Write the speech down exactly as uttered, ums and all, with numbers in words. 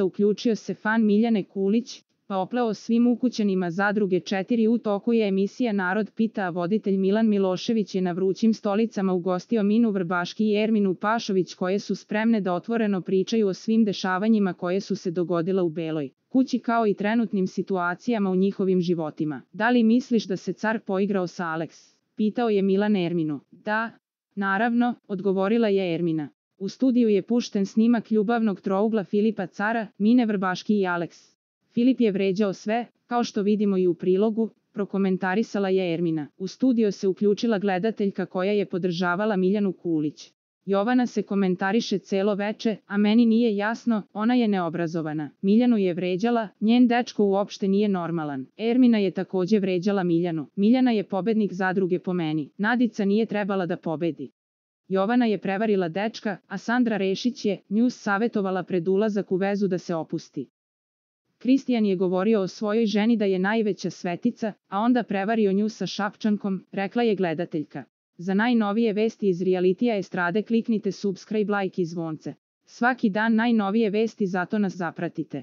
uključio se fan Miljane Kulić, pa opleo svim ukućanima Zadruge četiri. U toku je emisija Narod pita, a voditelj Milan Milošević je na vrućim stolicama ugostio Minu Vrbaški i Erminu Pašović, koje su spremne da otvoreno pričaju o svim dešavanjima koje su se dogodila u Beloj kući kao i trenutnim situacijama u njihovim životima. Da li misliš da se car poigrao sa Alex? Pitao je Milan Erminu. Da, naravno, odgovorila je Ermina. U studiju je pušten snimak ljubavnog trougla Filipa Cara, Mine Vrbaški i Alex. Filip je vređao sve, kao što vidimo i u prilogu, prokomentarisala je Ermina. U studio se uključila gledateljka koja je podržavala Miljanu Kulić. Jovana se komentariše celo veče, a meni nije jasno, ona je neobrazovana. Miljanu je vređala, njen dečko uopšte nije normalan. Ermina je takođe vređala Miljanu. Miljana je pobednik Zadruge po meni. Nadica nije trebala da pobedi. Jovana je prevarila dečka, a Sandra Rešić je nju savetovala pred ulazak u vezu da se opusti. Kristijan je govorio o svojoj ženi da je najveća svetica, a onda prevario nju sa Šapčankom, rekla je gledateljka. Za najnovije vesti iz realitija estrade kliknite subscribe, like i zvonce. Svaki dan najnovije vesti, zato nas zapratite.